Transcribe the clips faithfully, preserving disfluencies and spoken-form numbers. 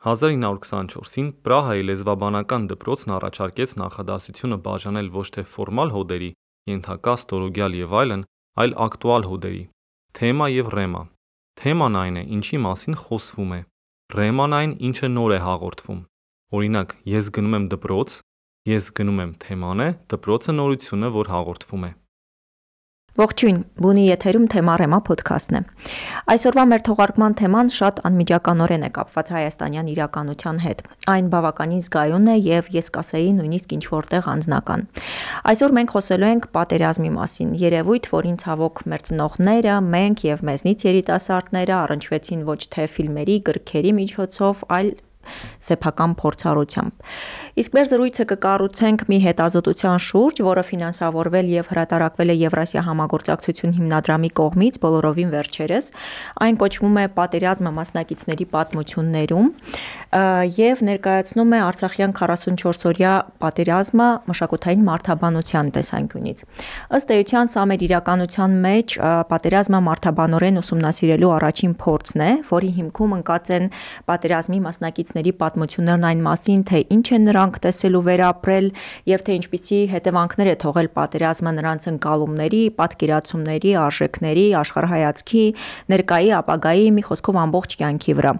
հազար ինը հարյուր քսանչորսին Պրահայի լեզվաբանական դպրոցն առաջարկեց նախադասությունը բաժանել ոչ թե ֆորմալ հոդերի, ենթակա, ստորոգյալ եւ այլն, այլ ակտուալ հոդերի։ Թեմա եւ ռեմա։ Թեման այն է, ինչի մասին խոսվում է։ Ռեման այն, ինչը նոր է հաղորդվում։ Օրինակ, ես գնում եմ դպրոց, ես գնում եմ թեման է, դպրոցը նորությունը, որ հաղորդվում է։ Ողջույն, բունի եթերում թեմա ռեմա փոդքասթն է։ Այսօրվա մեր թողարկման թեման շատ անմիջականորեն է կապված հայաստանյան իրականության հետ։ Այն բավականին զգայուն է եւ ես կասեի նույնիսկ ինչ որտեղ անձնական։ Այսօր մենք խոսելու ենք պատերազմի մասին, երևույթ, որին ցավոք մեր ծնողները, մենք եւ մեզնից երիտասարդները առնչվեցին ոչ թե ֆիլմերի, գրքերի միջոցով, այլ սեփական փորձառությամբ։ Իսկ մեր զրույցը կկառուցենք մի հետազոտության շուրջ, որը ֆինանսավորվել եւ հրատարակվել է Եվրասիա համագործակցություն հիմնադրամի կողմից բոլորովին վերջերս։ Այն կոչվում է Պատերազմը մասնակիցների պատմություններում եւ ներկայացնում է Արցախյան քառասունչորսօրյա պատերազմը մշակութային մարդաբանության տեսանկյունից։ Ըստ էության սա մեր իրականության մեջ պատերազմը մարդաբանորեն ուսումնասիրելու առաջին փորձն է, որի հիմքում ընկած են պատերազմի մասնակիցների պատմություններն այն մասին, թե ինչ են նրանք տեսել ու վերապրել եւ թե ինչպիսի հետևանքներ է թողել պատերազմը նրանց ընկալումների, պատկերացումների, արժեքների, աշխարհայացքի, ներկայի, ապագայի, մի խոսքով ամբողջ կյանքի վրա։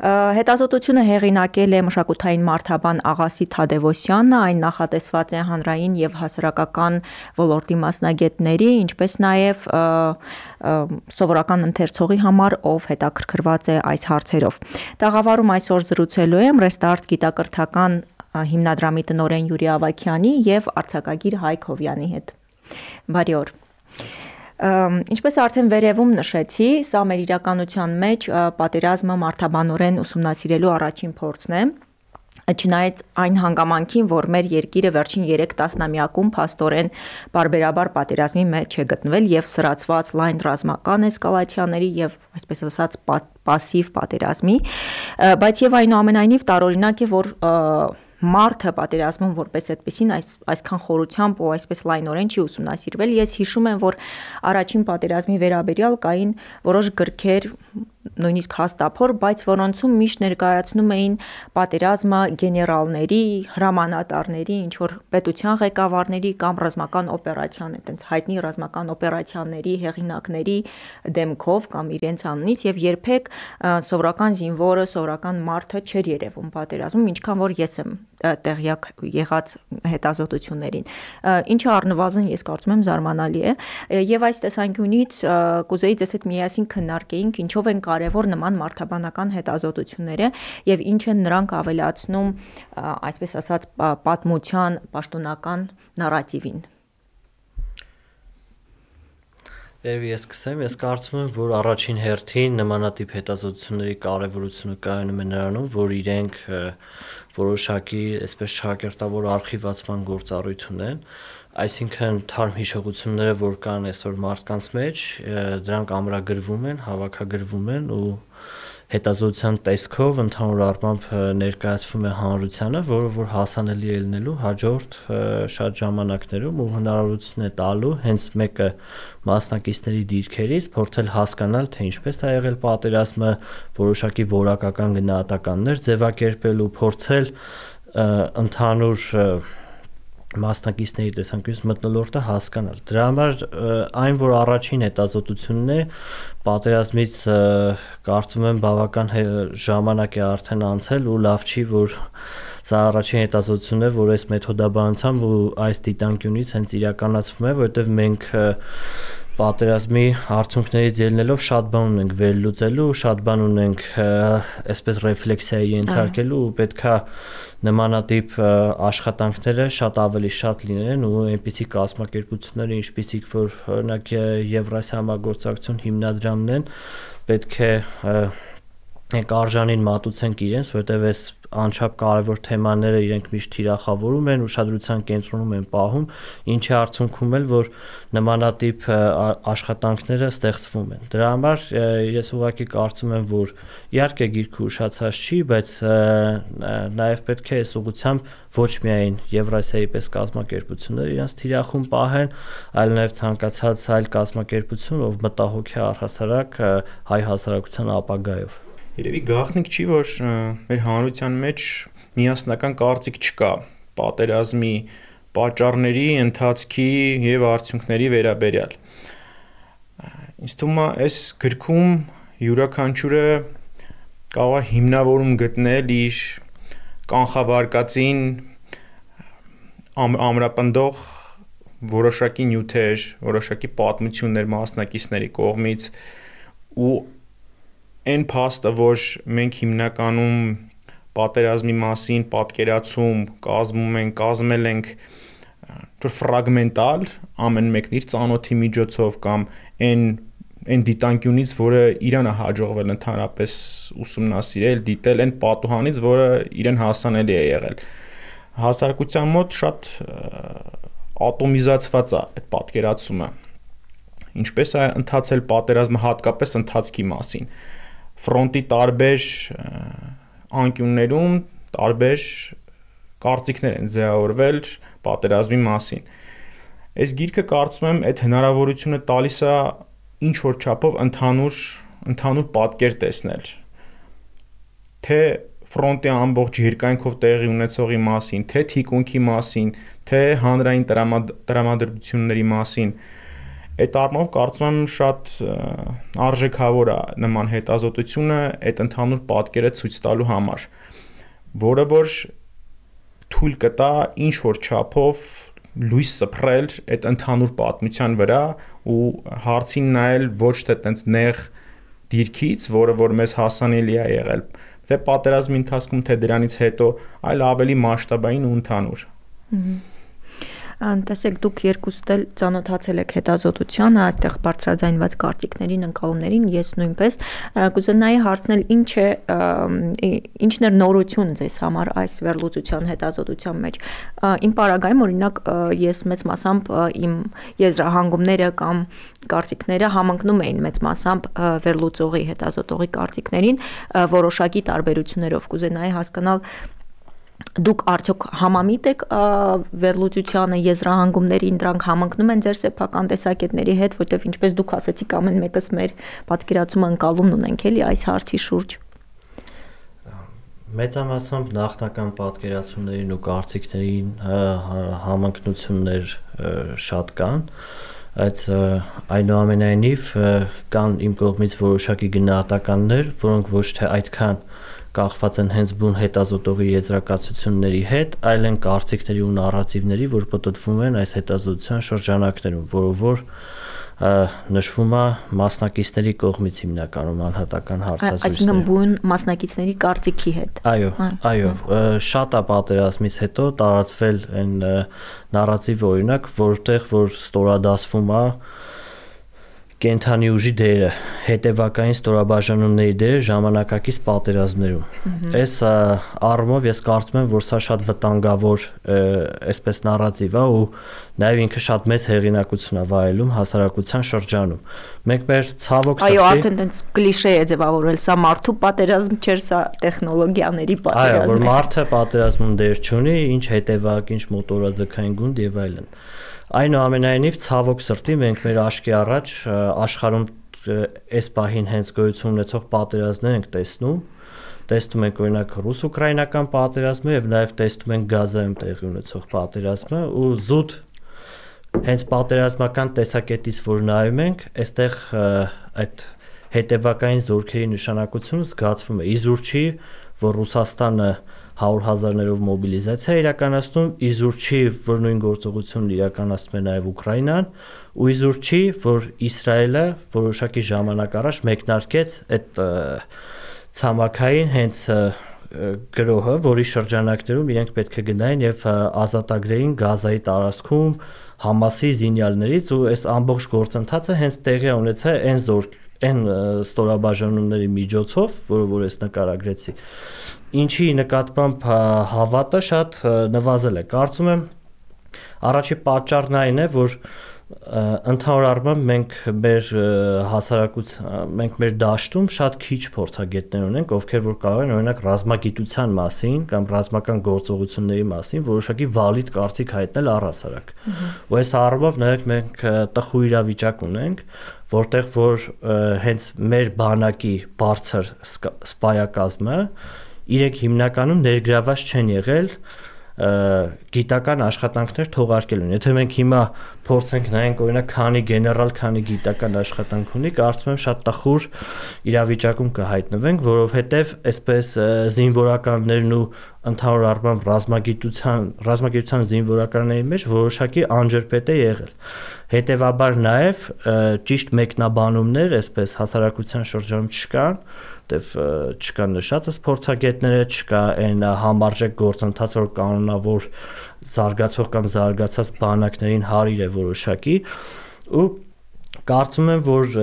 Հետազոտությունը հեղինակել է մշակութային մարդաբան Աղասի Թադևոսյանը, այն նախատեսված է հանրային եւ հասարակական ոլորտի մասնագետների, ինչպես նաեւ սովորական ընթերցողի համար, ով հետաքրքրված է այս հարցերով։ Տաղավարում այսօր զրուցելու եմ Restart գիտակրթական հիմնադրամի տնօրեն Յուրի Ավագյանի եւ արձակագիր Հայկ Հովյանի հետ։ Բարի օր։ Ինչպես արդեն վերևում նշեցի, սա մեր իրականության մեջ պատերազմը մարդաբանորեն ուսումնասիրելու առաջին փորձն է։ Չնայած այն հանգամանքին, որ մեր երկիրը վերջին երեք տասնամյակում փաստորեն բարբերաբար պատերազմի մեջ է գտնվել եւ սրացված լայն ռազմական էսկալացիաների եւ այսպես ասած պասիվ պատերազմի, բայց եւ այնուամենայնիվ տարօրինակ է, որ մարդը պատերազմում որպես այդպեսին այս այսքան խորությամբ ու այսպես լայնորեն չի ուսումնասիրվել։ Ես հիշում եմ, որ առաջին պատերազմի վերաբերյալ կային որոշ գրքեր, նույնիսկ հաստափոր, բայց որոնցում միշտ ներկայացնում էին պատերազմը գեներալների, հրամանատարների, ինչ որ պետության ղեկավարների կամ ռազմական օպերացիան, այտենց հայտնի ռազմական օպերացիաների հեղինակների դեմքով կամ իրենց անունից եւ երբեք սովորական զինվորը, սովորական մարդը չէր երևում պատերազմում, ինչքան որ ես եմ տեղյակ եղած հետազոտություններին, ինչը առնվազն ես կարծում եմ զարմանալի է եւ այս տեսանկյունից կուզեի ձեզ հետ միասին քննարկեինք ինչով են կարևոր նման մարդաբանական հետազոտությունները եւ ինչ են նրանք ավելացնում, այսպես ասած, պատմության պաշտոնական նարատիվին։ Եվ ես սկսեմ, ես կարծում եմ, որ առաջին հերթին նմանատիպ հետազոտությունների կարևորությունը կայանում է նրանում, որ իրենք որոշակի այսպես շահակերտավոր արխիվացման գործառույթ ունեն, այսինքն թարմ հիշողությունները, որ կան այսօր մարդկանց մեջ, դրանք ամրագրվում են, հավաքագրվում են ու հետազոտության տեսքով ընդհանուր առմամբ ներկայացվում է հանրությանը, որը որ հասանելի է լինելու հաջորդ շատ ժամանակներում ու հնարավորություն է տալու հենց մեկը մասնակիցների դիրքերից փորձել հասկանալ, թե ինչպես է եղել պատերազմը, որոշակի որակական գնահատականներ ձևակերպել ու փորձել ընդհանուր մասնակիցների տեսանկյունից մթնոլորտը հասկանալ։ Դրա համար այն, որ առաջին հետազոտությունն է, պատերազմից կարծում եմ բավական ժամանակ է արդեն անցել ու լավ չի, որ սա առաջին հետազոտությունն է, որ այս մեթոդաբանությամբ ու այս դիտանկյունից հենց իրականացվում է, որովհետև մենք պատերազմի արդյունքներից ելնելով շատ բան ունենք վերլուծելու, շատ բան ունենք այսպես ռեֆլեքսիայի ենթարկելու ու պետքա նմանատիպ աշխատանքները շատ ավելի շատ լինեն ու այնպիսի կազմակերպությունները, ինչպիսիք որ օրինակ Եվրասիա համագործակցություն հիմնադրամն են, պետք է կարժանին մատուցենք իրենց, որովհետև այս անչափ կարևոր թեմաները իրենք միշտ թիրախավորում են, ուշադրության կենտրոնում են պահում, ինչի արդյունքում էլ որ նմանատիպ աշխատանքները ստեղծվում են։ Դրա համար ես ուղղակի կարծում եմ, որ իհարկե գիրքը ուշացած չի, բայց նաև պետք է այս ուղղությամբ ոչ միայն Եվրասիայի պես կազմակերպությունները իրենց թիրախում պահեն, այլ նաև ցանկացած այլ կազմակերպություն, ով մտահոգ է առհասարակ հայ հասարակության ապագայով։ Երևի գաղտնիք չի, որ մեր հանրության մեջ միասնական կարծիք չկա պատերազմի պատճառների, ընթացքի եւ արդյունքների վերաբերյալ։ Ինձ թվում է, այս գրքում յուրաքանչյուրը կարող է հիմնավորում գտնել իր կանխավարկածին ամ, ամրապնդող որոշակի նյութեր, որոշակի պատմություններ մասնակիցների կողմից ու այն փաստը, որ մենք հիմնականում պատերազմի մասին պատկերացում կազմում ենք, կազմել ենք ֆրագմենտալ ամեն մեկն իր ծանոթի միջոցով կամ այն այն դիտանկյունից, որը իրան է հաջողվել ընդհանրապես ուսումնասիրել, դիտել, այն պատուհանից, որը իրեն հասանելի է եղել։ Հասարակության մոտ շատ ատոմիզացված է այդ պատկերացումը։ Ինչպես է ընթացել պատերազմը հատկապես ընթացքի մասին։ Ֆրոնտի տարբեր անկյուններում տարբեր կարծիքներ են ձևավորվել պատերազմի մասին։ Այս գիրքը կարծում եմ այդ հնարավորությունը տալիս է ինչ որ չափով ընդհանուր ընդհանուր պատկեր տեսնել, թե ֆրոնտի ամբողջ երկայնքով տեղի ունեցողի մասին, թե թիկունքի մասին, թե հանրային տրամադրությունների մասին։ Այդ առումով կարծում եմ շատ արժեքավոր է նման հետազոտությունը այդ ընդհանուր պատկերը ցույց տալու համար, որը որ թույլ կտա ինչ որ չափով լույս սփռել այդ ընդհանուր պատմության վրա ու հարցին նայել ոչ թե տենց նեղ դիրքից, որը որ մեզ հասանելի է եղել, թե պատերազմի ընթացքում, թե դրանից հետո, այլ ավելի մասշտաբային ու ընդհանուր։ Տեսեք, դուք երկուստ էլ ծանոթացել եք հետազոտությանը, այստեղ բարձրաձայնված կարծիքներին, ընկալումներին, ես նույնպես կուզենայի հարցնել, ինչ է ինչն էր նորություն ձեզ համար այս վերլուծության հետազոտության մեջ։ Իմ պարագայում, օրինակ, ես մեծ մասամբ իմ եզրահանգումները կամ կարծիքները համընկնում էին մեծ մասամբ վերլուծողի, հետազոտողի կարծիքներին, որոշակի տարբերություններով կուզենայի հասկանալ դուք արդյոք համամիտ եք վերլուծությանը, եզրահանգումներին, դրանք համընկնում են ձեր սեփական տեսակետների հետ, որտեղ ինչպես դուք ասացիք, ամեն մեկս մեր պատկերացումը ընկալումն ունենք էլի այս հարցի շուրջ։ Մեծամասամբ նախնական պատկերացումներին ու կարծիքներին համընկնություններ շատ կան, բայց այնուամենայնիվ կան իմ կողմից որոշակի գնահատականներ, որոնք ոչ թե այդքան կախված են հենց բուն հետազոտողի եզրակացությունների հետ, այլ են կարծիքների ու նարատիվների, որ պտտվում են այս հետազոտության շրջանակներում, որով որ նշվում է մասնակիցների կողմից հիմնականում անհատական հարցազրույցներ։ Այսինքն բուն մասնակիցների կարծիքի հետ։ Այո, այո, շատ է պատերազմից հետո տարածվել այն նարատիվը, օրինակ, որտեղ որ ստորադասվում է կենթանի ուժի դերը, հետևակային ստորաբաժանումների դերը ժամանակակից պատերազմներում։ Այս առումով ես կարծում եմ, որ սա շատ վտանգավոր այսպես նարատիվ է ու նաև ինքը շատ մեծ հեղինակություն է վայելում հասարակության շրջանում։ Մենք մեր ցավոք սրտի… Այո, արդեն տենց կլիշե է ձևավորվել, սա մարդու պատերազմ չէր, սա տեխնոլոգիաների պատերազմ է։ Այո, որ մարդը պատերազմում դեր չունի, ինչ հետևակ, ինչ մոտորաձգային գունդ եւ այլն։ Այնուամենայնիվ ցավոք սրտի մենք մեր աչքի առաջ աշխարհում այս պահին հենց գոյություն ունեցող պատերազմներ ենք տեսնում, տեսնում ենք օրինակ ռուս-ուկրաինական պատերազմը եւ նաեւ տեսնում ենք Գազայում տեղի ունեցող պատերազմը ու զուտ հենց պատերազմական տեսակետից որ նայում ենք, այստեղ այդ հետևակային զորքերի նշանակությունը զգացվում է։ Իզուր չի, որ Ռուսաստանը հարյուր հազարներով մոբիլիզացիա իրականացնում, իզուր չի, որ նույն գործողությունն իրականացնում է նաև Ուկրաինան, ու իզուր չի, որ Իսրայելը որոշակի ժամանակ առաջ մեկնարկեց այդ ցամաքային հենց գրոհը, որի շրջանակներում իրենք պետք է գնային եւ ազատագրեին Գազայի տարածքում Համասի զինյալներից ու այս ամբողջ գործընթացը հենց տեղի ունեցա այն զորք այն ստորաբաժանումների միջոցով, որը որ ես նկարագրեցի, ինչի նկատմամբ հավատը շատ նվազել է։ Կարծում եմ առաջի պատճառն այն է, որ Ընդհանուր առմամբ մենք մեր հասարակության մենք մեր դաշտում շատ քիչ փորձագետներ ունենք, ովքեր որ կարող են օրինակ ռազմագիտության մասին կամ ռազմական գործողությունների մասին որոշակի վալիդ կարծիք հայտնել առհասարակ։ Ու այս առումով նաև մենք տխուր իրավիճակ ունենք, որտեղ որ հենց մեր բանակի բարձր սպայակազմը իրենք հիմնականում ներգրաված չեն եղել գիտական աշխատանքներ թողարկելուն։ Եթե մենք հիմա փորձենք նայենք օրինակ քանի գեներալ, քանի գիտական աշխատանք ունի, կարծում եմ շատ տխուր իրավիճակում կհայտնվենք, որովհետև այսպես զինվորականներն ու ընդհանուր առմամբ ռազմագիտության, ռազմագիտության զինվորականների մեջ որոշակի անջրպետ է եղել։ Հետևաբար նաև ճիշտ մեկնաբանումներ այսպես հասարակության շրջանում չկան, դեպ չկան նշածս փորձագետները, չկա այն համարժեք գործընթաց, որ կանոնավոր զարգացող կամ զարգացած բանակներին հարիր է որոշակի, ու կարծում եմ, որ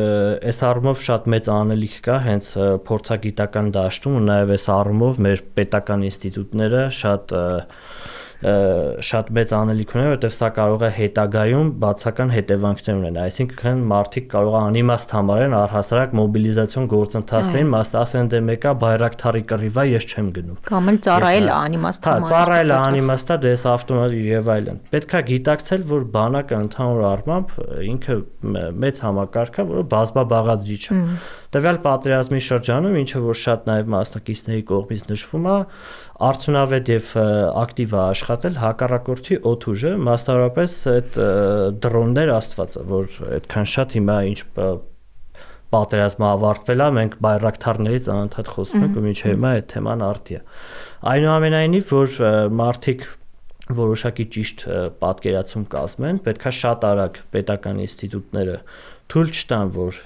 այս առումով շատ մեծ անելիք կա հենց փորձագիտական դաշտում ու նաև այս առումով մեր պետական ինստիտուտները շատ շատ մեծ անելիք ունեն, որովհետև սա կարող է հետագայում բացական հետևանքներ ունենալ, այսինքն մարդիկ կարող է անիմաստ համարեն առհասարակ մոբիլիզացիոն գործընթացներին, ասեն դե մեկա Բայրակթարի կռիվա, ես չեմ գնում։ Կամ էլ ծառայել է անիմաստ համարել։ Հա, ծառայել է անիմաստա, դες ավտոմատ եւ այլն։ Պետք է գիտակցել, որ բանակը ընդհանուր առմամբ ինքը մեծ համակարգ է, որը բազմաբաղադրիչ է։ Տվյալ պատերազմի շրջանում, ինչը որ շատ նաև մասնակիցների կողմից նշվում է, արդյունավետ եւ ակտիվ է աշխատել հակառակորդի օդուժը, մասնավորապես այդ դրոններ աստվածը, որ այդքան շատ հիմա ինչ պատերազմը ավարտվել է, մենք բայրակթարներից անընդհատ խոսում ենք ու մինչև հիմա այդ թեման արդի է։ Այնուամենայնիվ, որ մարդիկ որոշակի ճիշտ պատկերացում կազմեն, պետքա շատ արագ պետական ինստիտուտները թույլ չտան, որ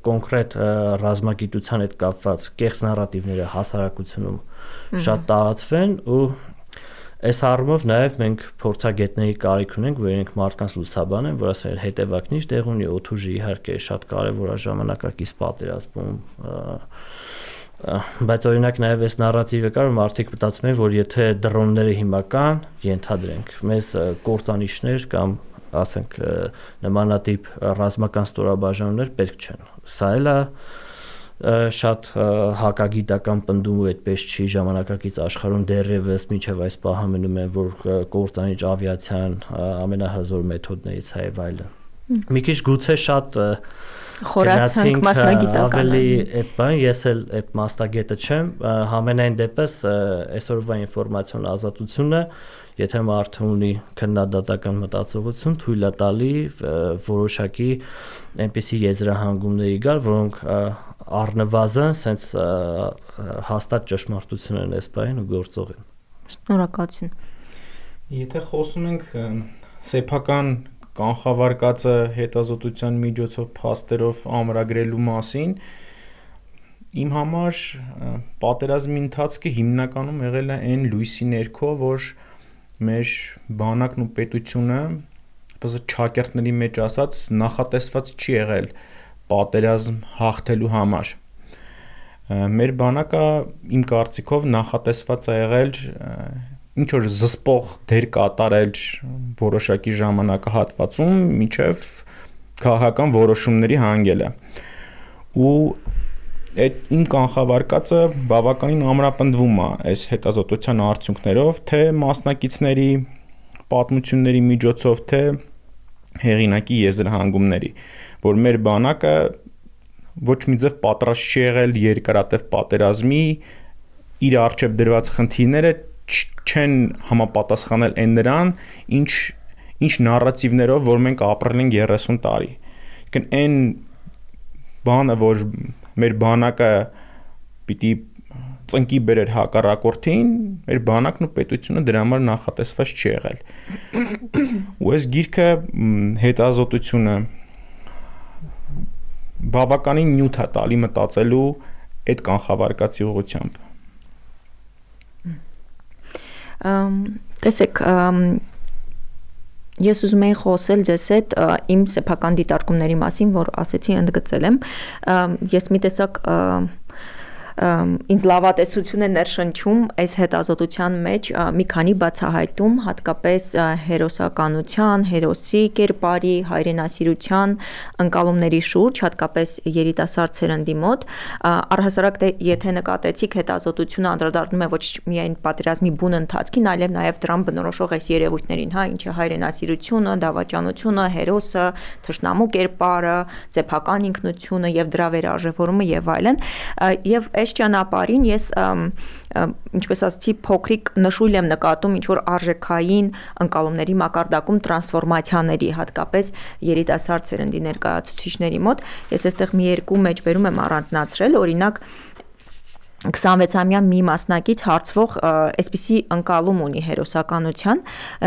կոնկրետ ռազմագիտության հետ կապված կեղծ նարատիվները հասարակությունում շատ տարածվեն ու այս առումով նաև մենք փորձագետների կարիք ունենք, որ իրենք մարդկանց լուսաբանեն, որ ասեն հետևակնիչ տեղ ունի, օդուժը իհարկե շատ կարևոր է ժամանակակից պատերազմում, բայց օրինակ նաև այս նարատիվը կար, որ մարդիկ մտածում են, որ եթե դրոնները հիմա կան, ենթադրենք, մեզ կործանիչներ կամ ասենք նմանատիպ ռազմական ստորաբաժանումներ պետք չեն։ Սա էլ է շատ հակագիտական պնդում ու այդպես չի ժամանակակից աշխարհում դեռևս մինչև այս պահը մնում են, որ կործանիչ ավիացիան ամենահզոր մեթոդներից է եւ այլն։ Մի քիչ գուցե շատ խորացանք մասնագիտական ավելի այդ բան, ես էլ այդ մասնագետը չեմ, համենայն դեպս այսօրվա ինֆորմացիոն ազատությունը, եթե մարդը ունի քննադատական մտածողություն, թույլ է տալի որոշակի այնպիսի եզրահանգումների գալ, որոնք առնվազն սենց հաստատ ճշմարտություն են այս բանին ու գործող են։ Շնորհակալություն։ Եթե խոսում ենք սեփական կանխավարկածը հետազոտության միջոցով փաստերով ամրագրելու մասին, իմ համար պատերազմի ընթացքը հիմնականում եղել է այն լույսի ներքո, որ մեր բանակն ու պետությունը, բացի ճակերտների մեջ ասած, նախատեսված չի եղել պատերազմ հաղթելու համար։ Մեր բանակը իմ կարծիքով նախատեսված է եղել ինչ որ զսպող դեր կատարել որոշակի ժամանակահատվածում մինչև քաղաքական որոշումների հանգելը։ Ու այդ իմ կանխավարկածը բավականին ամրապնդվում է այս հետազոտության արդյունքներով, թե մասնակիցների պատմությունների միջոցով, թե հեղինակի եզրահանգումների, որ մեր բանակը ոչ մի ձև պատրաստ չի եղել երկարատև պատերազմի, իր առջև դրված խնդիրները չեն համապատասխանել այն նրան, ինչ ինչ նարատիվներով, որ մենք ապրել ենք երեսուն տարի։ Այսինքն այն բանը, որ մեր բանակը պիտի ծնկի բերեր հակառակորդին, մեր բանակն ու պետությունը դրա համար նախատեսված չի եղել։ Ու այս գիրքը հետազոտությունը բավականին նյութ է տալի մտածելու այդ կանխավարկածի ուղղությամբ։ Տեսեք, ես ուզում եի խոսել ձեզ հետ իմ սեփական դիտարկումների մասին, որ ասեցի ընդգծել եմ։ Ես մի տեսակ ինձ լավատեսություն է ներշնչում այս հետազոտության մեջ մի քանի բացահայտում, հատկապես հերոսականության, հերոսի կերպարի, հայրենասիրության ընկալումների շուրջ, հատկապես երիտասարդ սերնդի մոտ, առհասարակ դե եթե նկատեցիք հետազոտությունը անդրադառնում է ոչ միայն պատերազմի բուն ընթացքին, այլև նաև դրան բնորոշող այս երևույթներին, հա, ինչը հայրենասիրությունը, դավաճանությունը, հերոսը, թշնամու կերպարը, սեփական ինքնությունը եւ դրա վերարժևորումը եւ այլն, եւ այս ճանապարհին ես ինչպես ասացի փոքրիկ նշույլ եմ նկատում ինչ որ արժեքային ընկալումների մակարդակում տրանսֆորմացիաների, հատկապես երիտասարդ սերնդի ներկայացուցիչների մոտ։ Ես այստեղ մի երկու մեջբերում եմ առանձնացրել, օրինակ քսանվեցամյա մի մասնակից հարցվող այսպիսի ընկալում ունի հերոսականության,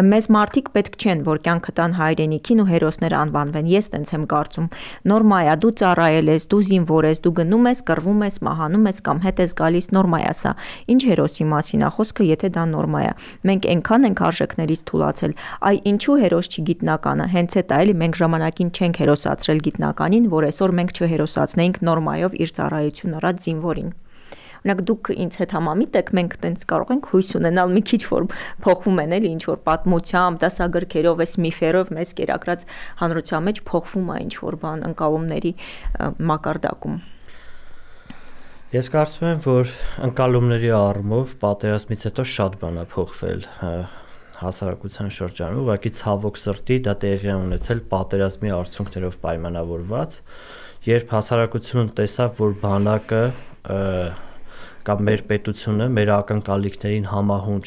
մեզ մարդիկ պետք չեն, որ կյանքը տան հայրենիքին ու հերոսները անվանվեն, ես տենց եմ կարծում, նորմա է, դու ծառայել ես, դու զինվոր ես, դու գնում ես, կռվում ես, մահանում ես կամ հետ ես գալիս, նորմա է սա, ինչ հերոսի մասին է խոսքը, եթե դա նորմա է, մենք այնքան ենք արժեքներից թուլացել, այ ինչու հերոս չի գիտնականը, հենց էդ է, էլի մենք ժամանակին չենք հերոսացրել գիտնականին, որ այսօր մենք չհերոսացնեինք նորմայով իր ծառայություն առած զինվորին։ Օրինակ դուք ինձ հետ համամիտ եք, մենք տենց կարող ենք հույս ունենալ մի քիչ որ փոխվում են էլի ինչ որ պատմությամբ, դասագրքերով, այս միֆերով մեզ կերակրած հանրության մեջ փոխվում է ինչ որ բան ընկալումների մակարդակում։ Ես կարծում եմ, որ ընկալումների առումով պատերազմից հետո շատ բան է փոխվել հասարակության շրջանում, ուղղակի ցավոք սրտի դա տեղի է ունեցել պատերազմի արդյունքներով պայմանավորված, երբ հասարակությունը տեսավ, որ բանակը կամ մեր պետությունը մեր ակնկալիքներին համահունչ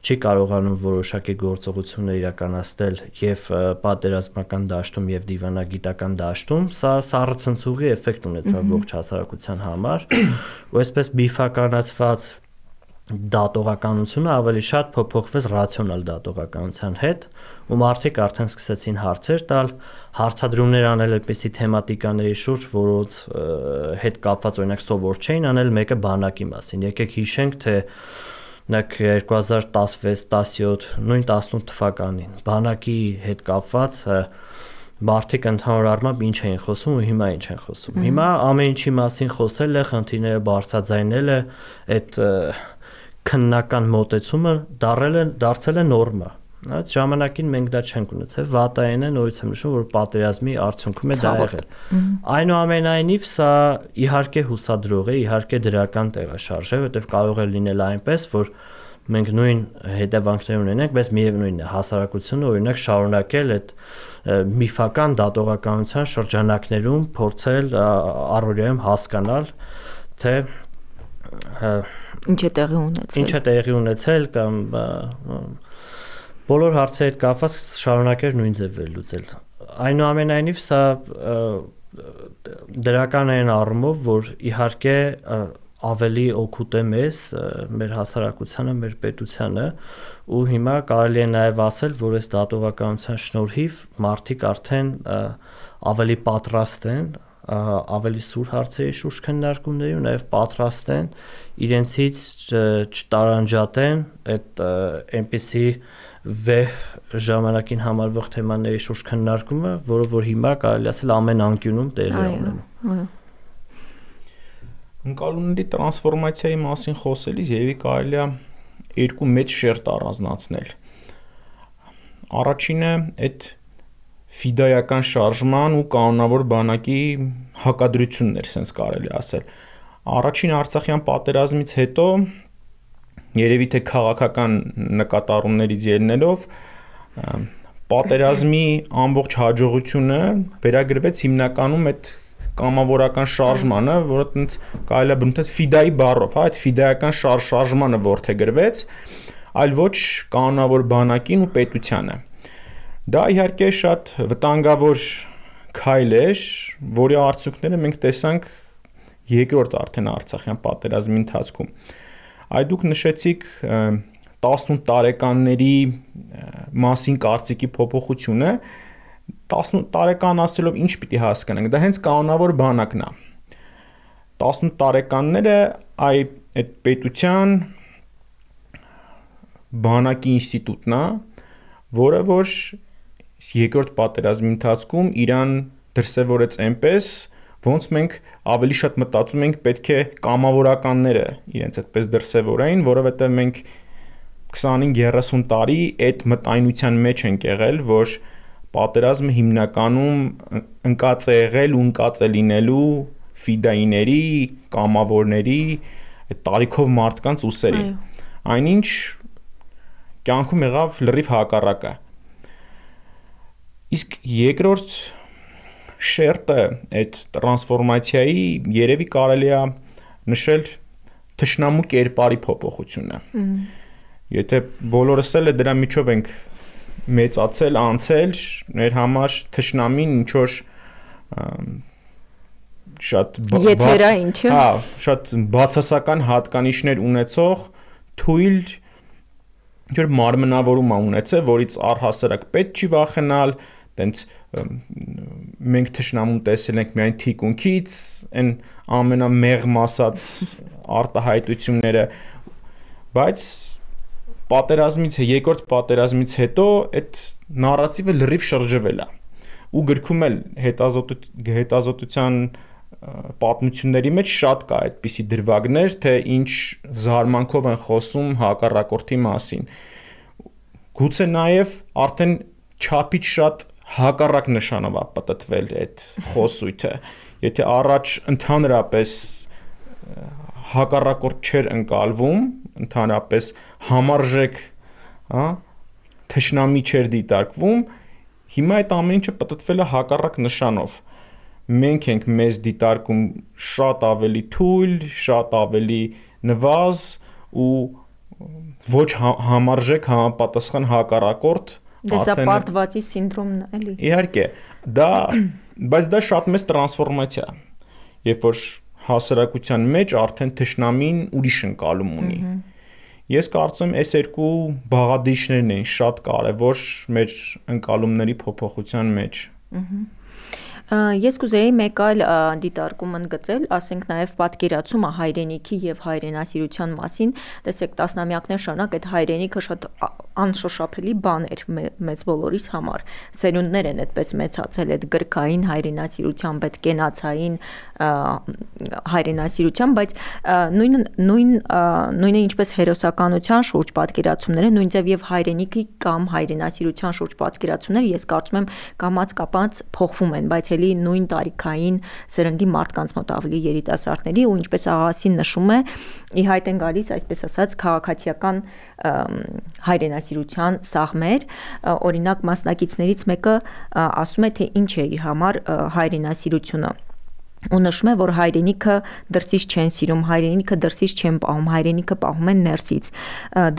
չի կարողանում որոշակի գործողություններ իրականացնել եւ պատերազմական դաշտում եւ դիվանագիտական դաշտում, սա սառը ցնցուղի էֆեկտ ունեցավ ողջ հասարակության համար, ու այսպես բիֆականացված դատողականությունը ավելի շատ փոփոխվեց ռացիոնալ դատողականության հետ, ու մարդիկ արդեն սկսեցին հարցեր տալ, հարցադրումներ անել այդպիսի թեմատիկաների շուրջ, որոնց հետ կապված օրինակ սովոր չէին անել, մեկը բանակի մասին։ Եկեք հիշենք, թե նակ երկու հազար տասնվեց տասնյոթ, նույն տասնութ թվականին բանակի հետ կապված մարդիկ ընդհանուր առմամբ ինչ էին խոսում ու հիմա ինչ են խոսում։ Հիմա ամեն ինչի մասին խոսել է, խնդիրները բարձրաձայնել է, այդ քննական մոտեցումը դարել է դարձել է նորմա։ Այդ ժամանակին մենք դա չենք ունեցել, վատային է, նորից եմ նշում, որ պատերազմի արդյունքում է դա եղել։ Այնուամենայնիվ սա իհարկե հուսադրող է, իհարկե դրական տեղաշարժ է, որտեղ կարող է լինել այնպես, որ մենք նույն հետևանքներ ունենենք, բայց միևնույնն է, հասարակությունը օրինակ շարունակել այդ միֆական դատողականության շրջանակներում փորձել առօրյայում հասկանալ, թե ինչ է տեղի ունեցել։ Ինչ է տեղի ունեցել կամ բոլոր հարցերի հետ կապված շարունակել նույն ձև վերլուծել։ Այնուամենայնիվ սա դրական է այն առումով, որ իհարկե ավելի օգուտ է մեզ, մեր հասարակությանը, մեր պետությանը, ու հիմա կարելի է նաև ասել, որ այս դատողականության շնորհիվ մարդիկ արդեն ավելի պատրաստ են ավելի սուր հարցերի շուրջ քննարկումների ու նաև պատրաստ են իրենցից չտարանջատեն այդ այնպիսի վեհ ժամանակին համարվող թեմաների շուրջ քննարկումը, որը որ հիմա կարելի ասել ամեն անկյունում տեղի է ունենում։ Ընկալումների տրանսֆորմացիայի մասին խոսելիս երևի կարելի է երկու մեծ շերտ առանձնացնել։ Առաջինը այդ ֆիդայական շարժման ու կանոնավոր բանակի հակադրությունն էր, sense կարելի ասել։ Առաջին Արցախյան պատերազմից հետո երևի թե քաղաքական նկատառումներից ելնելով պատերազմի ամբողջ հաջողությունը վերագրվեց հիմնականում այդ կամավորական շարժմանը, որը տենց կարելի է բնութ ֆիդայի բառով, հա, այդ ֆիդայական շարժ շարժմանը որդեգրվեց, այլ ոչ կանոնավոր բանակին ու պետությանը։ Դա իհարկե շատ վտանգավոր քայլ էր, որի արդյունքները մենք տեսանք երկրորդ արդեն Արցախյան պատերազմի ընթացքում։ Այ դուք նշեցիք տասնութ տարեկանների մասին կարծիքի փոփոխությունը, տասնութ տարեկան ասելով ինչ պիտի հասկանանք, դա հենց կանոնավոր բանակն է։ տասնութ տարեկանները այ այդ պետության բանակի ինստիտուտն է, որը որ երկրորդ պատերազմի ընթացքում իրան դրսևորեց այնպես, ոնց մենք ավելի շատ մտածում ենք պետք է կամավորականները իրենց այդպես դրսևորեին, որովհետև մենք քսանհինգ երեսուն տարի այդ մտայնության մեջ ենք եղել, որ պատերազմը հիմնականում ընկած է եղել ու ընկած է լինելու ֆիդայիների, կամավորների, այդ տարիքով մարդկանց ուսերի։ Այնինչ կյանքում եղավ լրիվ հակառակը։ Իսկ երկրորդ շերտը այդ տրանսֆորմացիայի երևի կարելի է նշել թշնամու կերպարի փոփոխությունը։ Եթե բոլորս էլ դրա միջով ենք մեծացել, անցել, մեր համար թշնամին ինչ որ շատ եթերա ինչը։ Հա, շատ բացասական հատկանիշներ ունեցող թույլ ինչ որ մարմնավորում է ունեցել, որից առհասարակ պետք չի վախենալ, տենց մենք թշնամուն տեսել ենք միայն թիկունքից, այն ամենամեղմ ասած արտահայտությունները, բայց պատերազմից, երկրորդ պատերազմից հետո այդ նարատիվը լրիվ շրջվել է ու գրքում էլ հետազոտության պատմությունների մեջ շատ կա այդպիսի դրվագներ, թե ինչ զարմանքով են խոսում հակառակորդի մասին։ Գուցե նաև արդեն չափից շատ հակառակ նշանով է պատտվել այդ խոսույթը։ Եթե առաջ ընդհանրապես հակառակորդ չէր ընկալվում, ընդհանրապես համարժեք, հա, թշնամի չէր դիտարկվում, հիմա այդ ամեն ինչը պատտվել է հակառակ նշանով։ Մենք ենք մեզ դիտարկում շատ ավելի թույլ, շատ ավելի նվազ ու ոչ համարժեք համապատասխան հակառակորդ։ Դեսապարտվածի սինդրոմն էլի։ Իհարկե, դա, բայց դա շատ մեծ տրանսֆորմացիա է, երբ որ հասարակության մեջ արդեն թշնամին ուրիշ ընկալում ունի։ Ես կարծում եմ, այս երկու բաղադրիչներն են շատ կարևոր մեր ընկալումների փոփոխության մեջ։ Ես կուզեի մեկ այլ դիտարկում ընդգծել, ասենք նաև պատկերացումը հայրենիքի եւ հայրենասիրության մասին, տեսեք տասնամյակներ շարունակ այդ հայրենիքը շատ անշոշափելի բան էր մեծ բոլորիս համար։ Սերունդներ են այդպես մեծացել այդ գրքային հայրենասիրությամբ, այդ կենացային հայրենասիրությամբ, բայց նույն նույն նույնը ինչպես հերոսականության շուրջ պատկերացումները, նույն ձև եւ հայրենիքի կամ հայրենասիրության շուրջ պատկերացումները, ես կարծում եմ կամաց-կապած փոխվում են, բայց էլի նույն տարիքային սերնդի մարդկանց մոտ ավելի երիտասարդների ու ինչպես աղասին նշում է, ի հայտ են գալիս, այսպես ասած, քաղաքացիական հայրենասիրության սաղմեր, օրինակ մասնակիցներից մեկը ասում է, թե ինչ է իր համար հայրենասիրությունը ու նշում է, որ հայրենիքը դրսից չեն սիրում, հայրենիքը դրսից չեն պահում, հայրենիքը պահում են ներսից,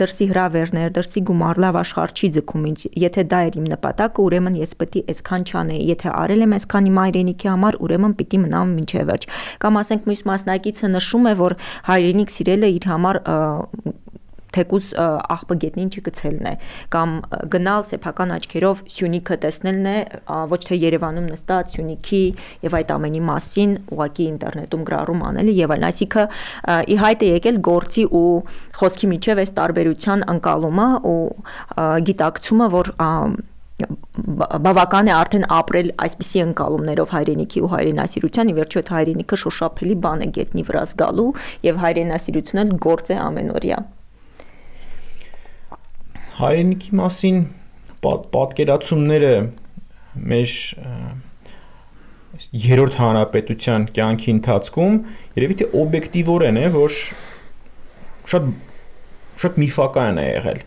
դրսի հրավերներ, դրսի գումար, լավ աշխարհ չի ձգում ինձ, եթե դա էր իմ նպատակը, ուրեմն ես պետք է այսքան չանեի, եթե արել եմ այսքան իմ հայրենիքի համար, ուրեմն պիտի մնամ մինչև վերջ։ Կամ ասենք մյուս մասնակիցը նշում է, որ հայրենիք սիրելը իր համար թեկուզ աղբը գետնին չգցելն է, կամ գնալ սեփական աչքերով Սյունիքը տեսնելն է, ոչ թե Երևանում նստած Սյունիքի եւ այդ ամենի մասին ուղակի ինտերնետում գրառում անելը եւ այլն, այսինքն ի հայտ է եկել գործի ու խոսքի միջև այս տարբերության ընկալումը ու գիտակցումը, որ բավական է արդեն ապրել այսպիսի ընկալումներով հայրենիքի ու հայրենասիրության, ի վերջո այդ հայրենիքը շոշափելի բան է գետնի վրա զգալու եւ հայրենասիրությունն էլ գործ է ամենօրյա։ Հայրենիքի մասին պատկերացումները մեր երրորդ հանրապետության կյանքի ընթացքում երևի թե օբյեկտիվորեն է, որ շատ շատ միֆական է եղել։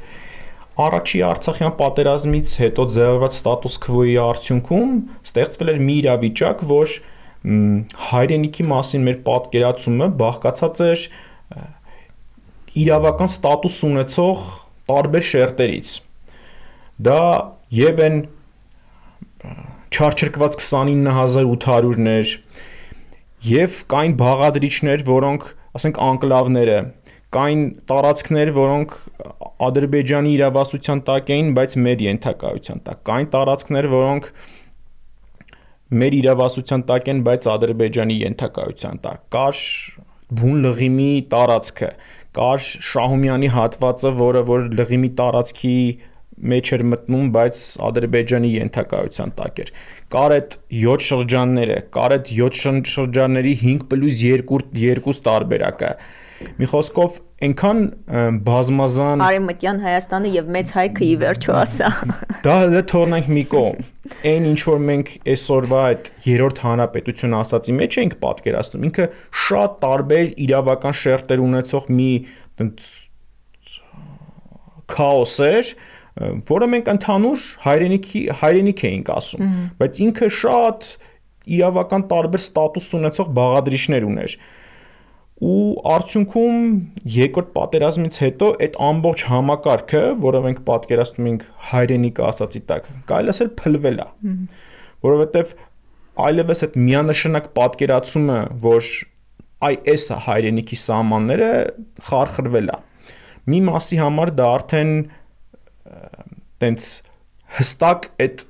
Առաջի Արցախյան պատերազմից հետո ձևավորված ստատուս քվոյի արդյունքում ստեղծվել էր մի իրավիճակ, որ հայրենիքի մասին մեր պատկերացումը բաղկացած էր իրավական ստատուս ունեցող տարբեր շերտերից։ Դա եւ են չարչրկված քսանինը հազար ութ հարյուրներ եւ կային բաղադրիչներ, որոնք, ասենք, անկլավները, կային տարածքներ, որոնք Ադրբեջանի իրավասության տակ էին, բայց մեր ենթակայության տակ, կային տարածքներ, որոնք մեր իրավասության տակ են, բայց Ադրբեջանի ենթակայության տակ, կար բուն լղիմի տարածքը, կար Շահումյանի հատվածը, որը որ լղիմի տարածքի մեջ էր մտնում, բայց Ադրբեջանի ենթակայության տակ էր։ Կար այդ յոթ շրջանները, կար այդ յոթ շրջանների հինգ պլյուս երկու տարբերակը։ Մի խոսքով այնքան բազմազան Արևմտյան Հայաստանը եւ Մեծ Հայքը ի վերջո ասա։ Դա դա թողնենք մի կողմ։ Այն ինչ որ մենք այսօրվա այդ երրորդ հանրապետություն ասացի մեջ ենք պատկերացնում, ինքը շատ տարբեր իրավական շերտեր ունեցող մի քաոս էր, որը մենք ընդհանուր հայրենիքի հայրենիք էինք ասում, բայց ինքը շատ իրավական տարբեր ստատուս ունեցող բաղադրիչներ ուներ։ Ու արդյունքում երկրորդ պատերազմից հետո այդ ամբողջ համակարգը, որը մենք պատկերացնում ենք հայրենիքը ասացի տակ, կարելի ասել փլվել է, որովհետև այլևս այդ միանշանակ պատկերացումը, որ այ էս է հայրենիքի սահմանները, խարխրվել է։ Մի մասի համար դա արդեն տենց հստակ այդ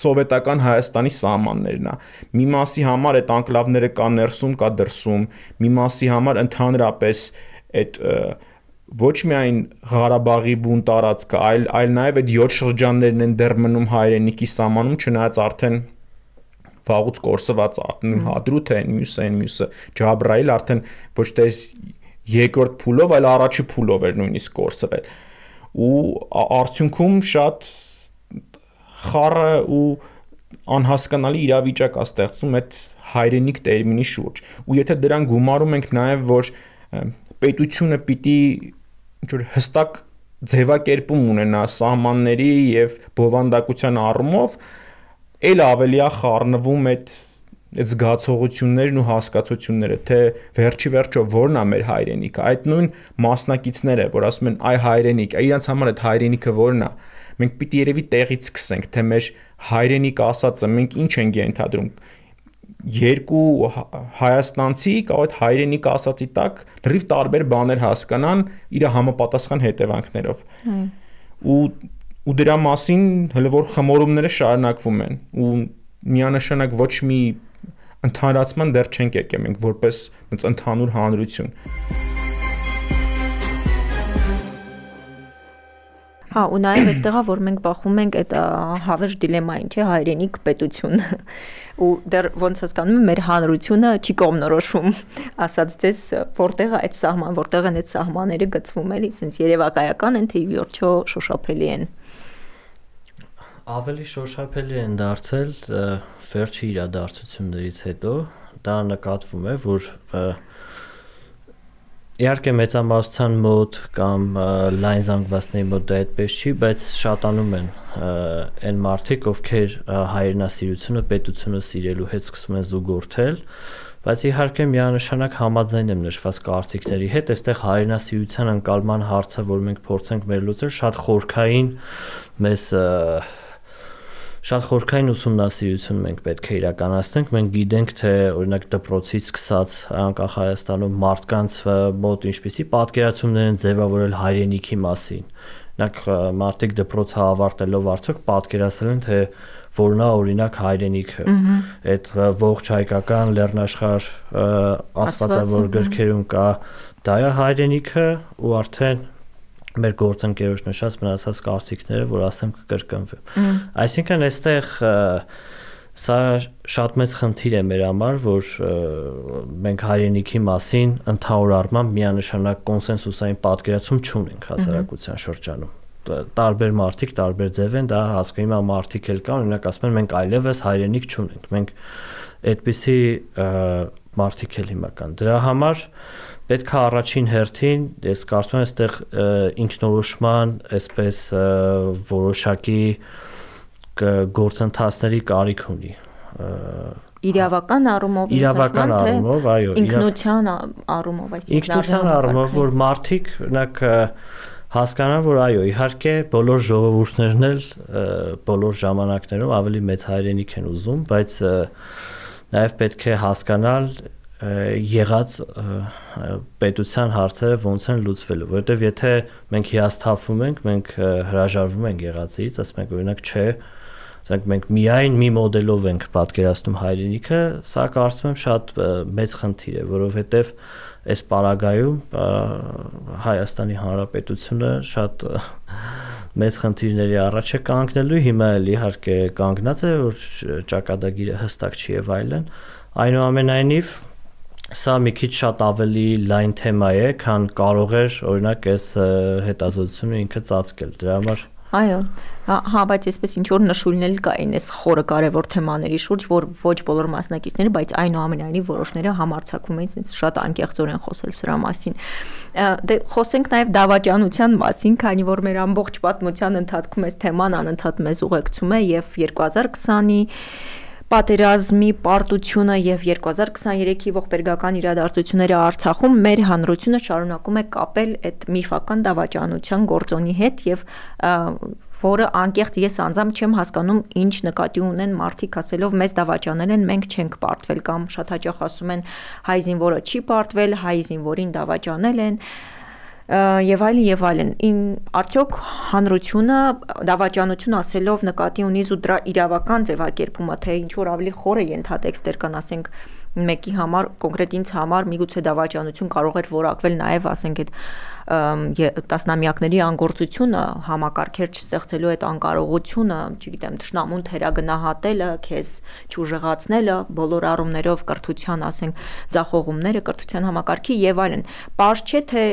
սովետական Հայաստանի սահմաններն է։ Մի մասի համար այդ անկլավները կա ներսում, կա դրսում, մի մասի համար ընդհանրապես այդ ոչ միայն Ղարաբաղի բուն տարածքը, այլ այլ նաև այդ յոթ շրջաններն են դեռ մնում հայրենիքի սահմանում, չնայած արդեն վաղուց կորսված արդեն Հադրութը են, մյուսը են, մյուսը Ջաբրայիլ արդեն ոչ թե երկրորդ փուլով, այլ առաջի փուլով էր նույնիսկ կորսվել։ Ու արդյունքում շատ խառը ու անհասկանալի իրավիճակ է ստեղծում այդ հայրենիք տերմինի շուրջ։ Ու եթե դրան գումարում ենք նաև, որ պետությունը պիտի ինչ-որ հստակ ձևակերպում ունենա սահմանների եւ բովանդակության առումով, ել ավելի է խառնվում այդ այդ զգացողություններն ու հասկացությունները, թե վերջի վերջո որն է մեր հայրենիքը, այդ նույն մասնակիցները, որ ասում են այ հայրենիք, իրանց համար այդ հայրենիքը որն է, մենք պիտի երևի տեղից սկսենք, թե մեր հայրենիք ասածը մենք ինչ ենք ենթադրում, երկու հայաստանցի կամ այդ հայրենիք ասածի տակ լրիվ տարբեր բաներ հասկանան իր համապատասխան հետևանքներով։ Ու ու դրա մասին հələ որ խմորումները շարունակվում են ու միանշանակ ոչ մի ընդհանրացման դեռ չենք եկել մենք որպես ընդհանուր հանրություն։ Հա, ու նաև այստեղ է, որ մենք բախում ենք այդ հավերժ դիլեմային, չէ, հայրենիք պետություն։ Ու դեռ ոնց հասկանում եմ, մեր հանրությունը չի կողմնորոշում, ասած դες որտեղ է այդ սահման, որտեղ են այդ սահմանները գծվում, էլի, sense երևակայական են, թե ի վերջո շոշափելի են։ Ավելի շոշափելի են դարձել վերջի իրադարձություններից հետո, դա նկատվում է, որ իհարկե մեծամասնության մոտ կամ լայն զանգվածների մոտ դա այդպես չի, բայց շատանում են այն մարդիկ, ովքեր հայրենասիրությունը, պետությունը սիրելու հետ սկսում են զուգորդել, բայց իհարկե միանշանակ համաձայն եմ նշված կարծիքների հետ, այստեղ հայրենասիրության ընկալման հարցը, որ մենք փորձենք մեր լուծել, շատ խորքային մեզ Շատ խորքային ուսումնասիրություն մենք պետք է իրականացնենք, մենք գիտենք, թե օրինակ դպրոցից սկսած անկախ Հայաստանում մարդկանց մոտ ինչպիսի պատկերացումներ են ձևավորել հայրենիքի մասին։ Օրինակ մարդիկ դպրոցը ավարտելով արդյոք պատկերացրել են, թե որն է օրինակ հայրենիքը։ Այդ ողջ հայկական լեռնաշխարհ աստվածավոր գրքերում կա դա է հայրենիքը ու արդեն մեր գործընկերոջ նշած մնացած կարծիքները, որ ասեմ կկրկնվեն։ Այսինքն այստեղ սա շատ մեծ խնդիր է մեր համար, որ մենք հայրենիքի մասին ընդհանուր առմամբ միանշանակ կոնսենսուսային պատկերացում չունենք հասարակության շրջանում։ Տարբեր մարդիկ տարբեր ձև են, դա հասկանում եմ մարդիկ էլ կան, օրինակ ասում են մենք այլևս հայրենիք չունենք։ Մենք այդպիսի մարդիկ էլ հիմա կան։ Դրա համար պետք է առաջին հերթին, ես կարծում եմ, այստեղ ինքնորոշման, այսպես որոշակի գործընթացների կարիք ունի։ Իրավական առումով, իրավական առումով, այո, ինքնության առումով, այսինքն ինքնության առումով, որ մարդիկ, օրինակ հասկանան, որ այո, իհարկե բոլոր ժողովուրդներն էլ բոլոր ժամանակներում ավելի մեծ հայրենիք են ուզում, բայց նաև պետք է հասկանալ եղած պետության հարցերը ոնց են լուծվելու, որովհետև եթե մենք հիասթափվում ենք, մենք հրաժարվում ենք եղածից, ասում ենք օրինակ չէ, ասենք մենք միայն մի մոդելով ենք պատկերացնում հայրենիքը, սա կարծում եմ շատ մեծ խնդիր է, որովհետև այս պարագայում Հայաստանի Հանրապետությունը շատ մեծ խնդիրների առաջ է կանգնելու, հիմա էլ իհարկե կանգնած է, որ ճակատագիրը հստակ չի եւ այլն, այնուամենայնիվ սա մի քիչ շատ ավելի լայն թեմա է, քան կարող էր օրինակ այս հետազոտությունը ինքը ծածկել, դրա համար Այո, հա, բայց այսպես ինչ որ նշույլներ կային այս խորը կարևոր թեմաների շուրջ, որ ոչ բոլոր մասնակիցները, բայց այնուամենայնիվ որոշները համարձակվում էին ինձ շատ անկեղծորեն խոսել սրա մասին։ Դե խոսենք նաև դավաճանության մասին, քանի որ մեր ամբողջ պատմության ընթացքում այս թեման անընդհատ մեզ ուղեկցում է եւ երկու հազար քսանի պատերազմի պարտությունը եւ երկու հազար քսաներեքի ողբերգական իրադարձությունները Արցախում մեր հանրությունը շարունակում է կապել այդ միֆական դավաճանության գործոնի հետ եւ որը անկեղծ ես անձամբ չեմ հասկանում ինչ նկատի ունեն մարդիկ ասելով մեզ դավաճանել են մենք չենք պարտվել կամ շատ հաճախ ասում են հայ զինվորը չի պարտվել հայ զինվորին դավաճանել են եւ այլն եւ այլն արդյոք հանրությունը դավաճանություն ասելով նկատի ունի ու դրա իրավական ձևակերպումը թե ինչ որ ավելի խորը ենթատեքստեր կան ասենք մեկի համար կոնկրետ ինձ համար միգուցե դավաճանություն կարող էր որակվել նաև ասենք այդ տասնամյակների անգործությունը համակարգեր չստեղծելու այդ անկարողությունը, չգիտեմ, թշնամուն թերագնահատելը, քեզ չուժեղացնելը, բոլոր առումներով կրթության, ասենք, ձախողումները կրթության համակարգի եւ այլն։ Պարզ չէ թե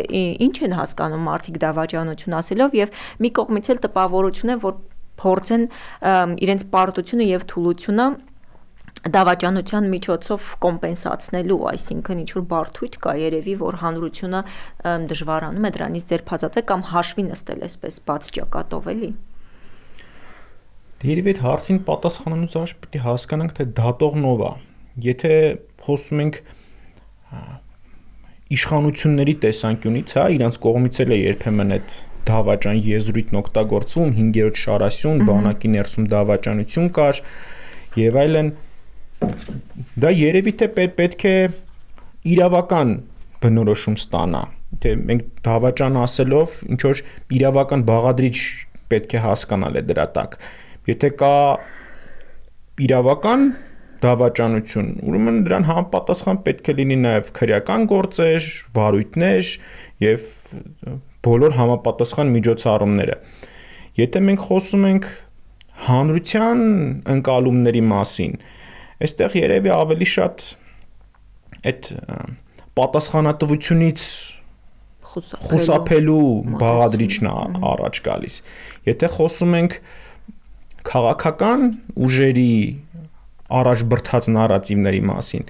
ինչ են հասկանում մարդիկ դավաճանություն ասելով եւ մի կողմից էլ տպավորություն է, որ փորձեն իրենց պարտությունը եւ թուլությունը դավաճանության միջոցով կոմպենսացնելու, այսինքն ինչ որ բարդույթ կա երևի, որ հանրությունը դժվարանում է դրանից ձերբազատվել կամ հաշվի նստել այսպես բաց ճակատով էլի։ Երևի այդ հարցին պատասխանելուց առաջ պետք է հասկանանք, թե դատողն ով է։ Եթե խոսում ենք իշխանությունների տեսանկյունից, հա, իրանց կողմից էլ է երբեմն այդ դավաճան եզրույթն օգտագործվում, հինգերորդ շարասյուն, բանակի ներսում դավաճանություն կար եւ այլն դա երևի թե պետք է իրավական բնորոշում ստանա, թե մենք դավաճան ասելով ինչ որ իրավական բաղադրիչ պետք է հասկանալ է դրա տակ։ Եթե կա իրավական դավաճանություն, ուրեմն դրան համապատասխան պետք է լինի նաև քրեական գործեր, վարույթներ եւ բոլոր համապատասխան միջոցառումները։ Եթե մենք խոսում ենք հանրության ընկալումների մասին, այստեղ երևի ավելի շատ այդ պատասխանատվությունից խուսափելու բաղադրիչն է առաջ գալիս։ Եթե խոսում ենք քաղաքական ուժերի առաջ բրդած նարատիվների մասին,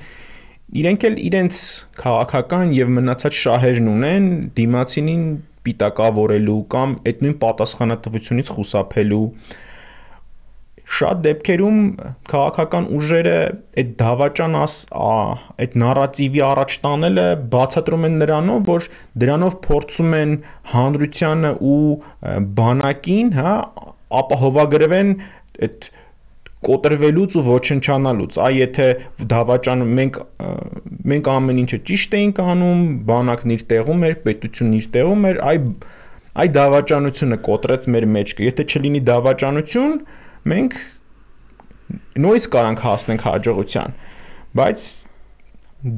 իրենք էլ իրենց քաղաքական եւ մնացած շահերն ունեն դիմացինին պիտակավորելու կամ այդ նույն պատասխանատվությունից խուսափելու շատ դեպքերում քաղաքական ուժերը այդ դավաճան այդ նարատիվի առաջ տանելը բացատրում են նրանով, որ դրանով փորձում են հանրությանը ու բանակին, հա, ապահովագրվեն այդ կոտրվելուց ու ոչնչանալուց։ Այ եթե դավաճան մենք մենք ամեն ինչը ճիշտ էինք անում, բանակն իր տեղում էր, պետությունն իր տեղում էր, այ այ դավաճանությունը կոտրեց մեր մեջքը։ Եթե չլինի դավաճանություն, մենք նույնիսկ կարանք հասնենք հաջողության, բայց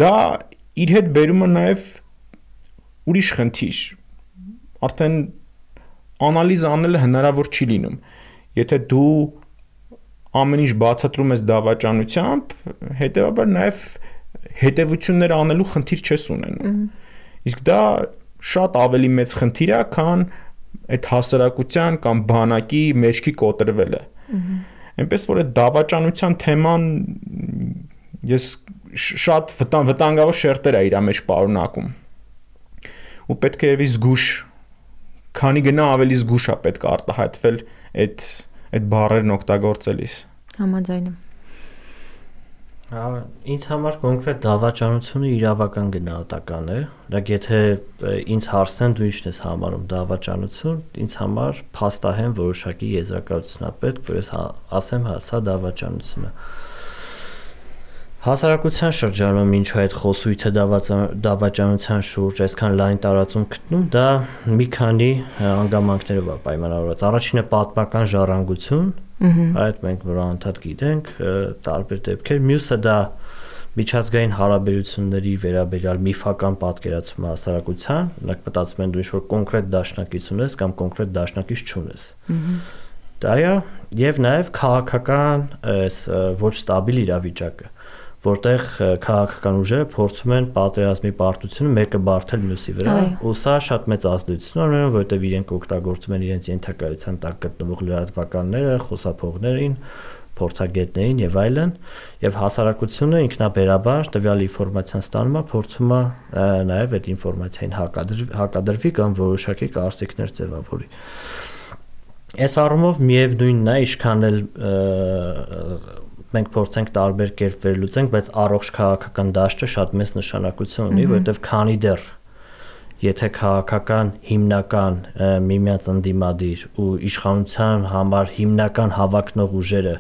դա իր հետ բերում է նաև ուրիշ խնդիր, արդեն անալիզ անելը հնարավոր չի լինում, եթե դու ամեն ինչ բացատրում ես դավաճանությամբ, հետևաբար նաև հետևություններ անելու խնդիր չես ունենում, իսկ դա շատ ավելի մեծ խնդիր է, քան այդ հասարակության կամ բանակի մեջքի կոտրվելը։ Այնպես որ այդ դավաճանության թեման ես շատ վտանգավոր շերտեր է իր մեջ պարունակում։ Ու պետք է երևի զգուշ, քանի գնա ավելի զգուշ է պետք է արտահայտվել այդ այդ բառերն օգտագործելիս։ Համաձայն եմ։ Ինձ համար կոնկրետ դավաճանությունը իրավական գնահատական է, դեռ եթե ինձ հարցնեն դու ի՞նչն ես համարում դավաճանություն, ինձ համար փաստահեն որոշակի եզրակացություն է պետք, որ ես ասեմ, հա, սա դավաճանություն է։ Հասարակության շրջանում ինչու այդ խոսույթը դավաճանության շուրջ այսքան լայն տարածում գտնում, դա մի քանի հանգամանքներով է պայմանավորված։ Առաջինը պատմական ժառանգություն, այդ մենք որ անդադ գիտենք, տարբեր դեպքեր, մյուսը դա միջազգային հարաբերությունների վերաբերյալ միֆական պատկերացումը հասարակության, օրինակ մտածում են դու ինչ-որ կոնկրետ դաշնակից ունես կամ կոնկրետ դաշնակից չունես։ Դա է, եւ նաեւ քաղաքական այս ոչ ստաբիլ իրավիճակը, որտեղ քաղաքական ուժերը փորձում են պատերազմի պարտությունը մեկը բարթել մյուսի վրա, ու սա շատ մեծ ազդեցություն ունենում, որովհետեւ իրենք օգտագործում են իրենց ենթակայության տակ գտնվող լրատվականները, խոսափողներին, փորձագետներին եւ այլն, եւ հասարակությունը ինքնաբերաբար տվյալ ինֆորմացիան ստանում է, փորձում է նաեւ այդ ինֆորմացիային հակադրվի կամ որոշակի կարծիքներ ձևավորի։ Այս առումով միևնույնն է, ինչքան էլ մենք փորձենք տարբեր կերպ վերլուծենք, բայց առողջ քաղաքական դաշտը շատ մեծ նշանակություն ունի, որովհետեւ քանի դեռ եթե քաղաքական հիմնական միմյանց ընդդիմադիր ու իշխանության համար հիմնական հավակնող ուժերը